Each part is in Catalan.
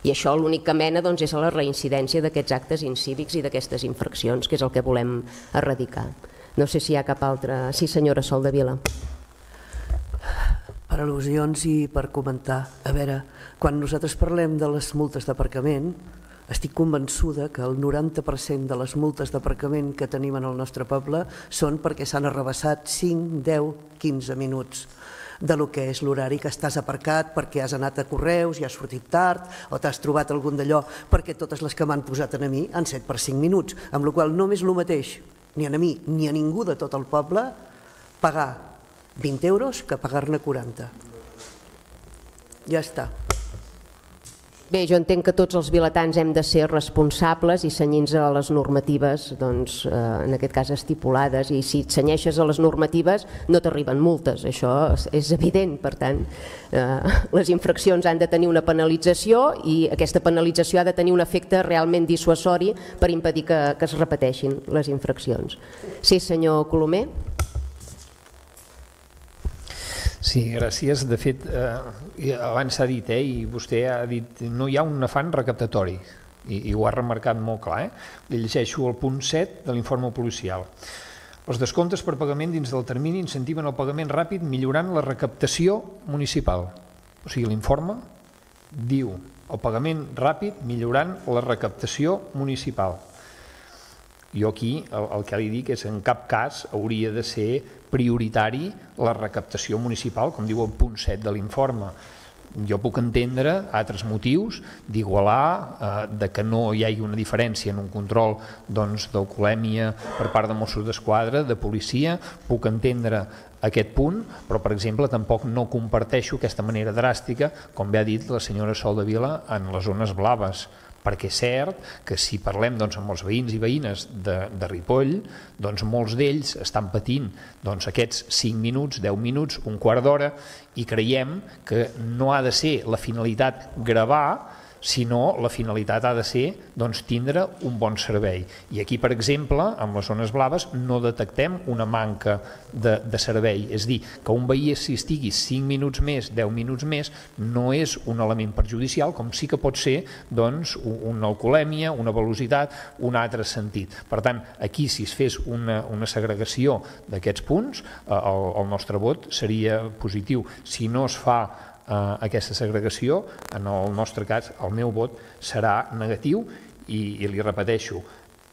I això l'únic que mena és a la reincidència d'aquests actes incívics i d'aquestes infraccions, que és el que volem erradicar. No sé si hi ha cap altre... Sí, senyora Soldevila. Per al·lusions i per comentar. A veure, quan nosaltres parlem de les multes d'aparcament, estic convençuda que el 90% de les multes d'aparcament que tenim en el nostre poble són perquè s'han arrabassat 5, 10, 15 minuts de lo que és l'horari que estàs aparcat perquè has anat a correus i has sortit tard o t'has trobat algun d'allò, perquè totes les que m'han posat a mi han set per 5 minuts, amb la qual no és el mateix ni a mi ni a ningú de tot el poble pagar 20 euros que pagar-ne 40. Ja està. Bé, jo entenc que tots els vilatans hem de ser responsables i cenyir-nos a les normatives, en aquest cas estipulades, i si et cenyeixes a les normatives no t'arriben multes, això és evident. Per tant, les infraccions han de tenir una penalització i aquesta penalització ha de tenir un efecte realment dissuasori per impedir que es repeteixin les infraccions. Sí, senyor Colomer. Sí, gràcies. De fet, abans s'ha dit, i vostè ha dit, no hi ha un afany recaptatori, i ho ha remarcat molt clar. Llegeixo el punt 7 de l'informe policial. Els descomptes per pagament dins del termini incentiven el pagament ràpid millorant la recaptació municipal. O sigui, l'informe diu el pagament ràpid millorant la recaptació municipal. Jo aquí el que li dic és que en cap cas hauria de ser prioritari la recaptació municipal, com diu el punt 7 de l'informe. Jo puc entendre altres motius d'igualar, de que no hi hagi una diferència en un control d'alcoholèmia per part de Mossos d'Esquadra, de policia, puc entendre aquest punt, però per exemple tampoc no comparteixo aquesta manera dràstica, com bé ha dit la senyora Soldevila, en les zones blaves, perquè és cert que si parlem amb els veïns i veïnes de Ripoll, molts d'ells estan patint aquests 5 minuts, 10 minuts, un quart d'hora, i creiem que no ha de ser la finalitat gravar, sinó la finalitat ha de ser tindre un bon servei. I aquí, per exemple, en les zones blaves no detectem una manca de servei. És dir, que un veí si estigui 5 minuts més, 10 minuts més, no és un element perjudicial, com sí que pot ser una alcoholèmia, una velocitat, un altre sentit. Per tant, aquí si es fes una segregació d'aquests punts, el nostre vot seria positiu. Si no es fa aquesta segregació, en el nostre cas el meu vot serà negatiu i li repeteixo,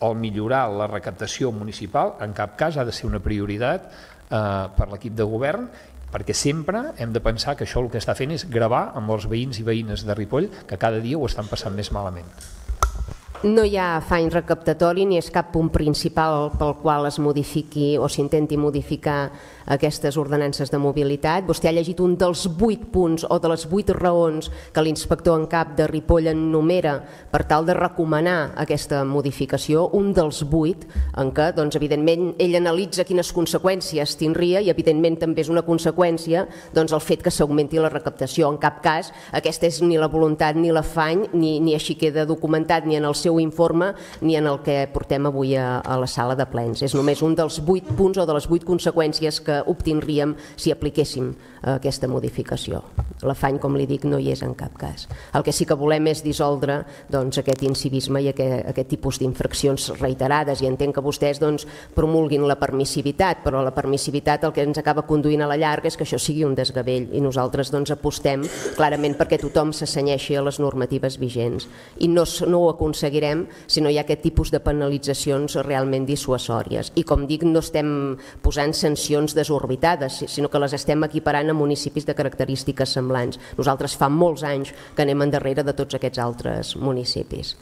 el millorar la recaptació municipal en cap cas ha de ser una prioritat per l'equip de govern, perquè sempre hem de pensar que això el que està fent és gravar amb els veïns i veïnes de Ripoll que cada dia ho estan passant més malament. No hi ha afany recaptatori ni és cap punt principal pel qual es modifiqui o s'intenti modificar aquestes ordenances de mobilitat. Vostè ha llegit un dels 8 punts o de les 8 raons que l'inspector en cap de Ripoll enumera per tal de recomanar aquesta modificació, un dels 8 en què, evidentment, ell analitza quines conseqüències tindria i, evidentment, també és una conseqüència el fet que s'augmenti la recaptació. En cap cas aquesta és ni la voluntat ni l'afany, ni així queda documentat ni en el seu informe ni en el que portem avui a la sala de plens. És només un dels 8 punts o de les 8 conseqüències que obtindríem si apliquéssim aquesta modificació. L'afany, com li dic, no hi és en cap cas. El que sí que volem és dissoldre aquest incivisme i aquest tipus d'infraccions reiterades, i entenc que vostès promulguin la permissivitat, però la permissivitat el que ens acaba conduint a la llarga és que això sigui un desgavell, i nosaltres apostem clarament perquè tothom se cenyeixi a les normatives vigents, i no ho aconseguirem si no hi ha aquest tipus de penalitzacions realment dissuasòries. I com dic, no estem posant sancions desorbitades, sinó que les estem equiparant a municipis de característiques semblants. Nosaltres fa molts anys que anem endarrere de tots aquests altres municipis.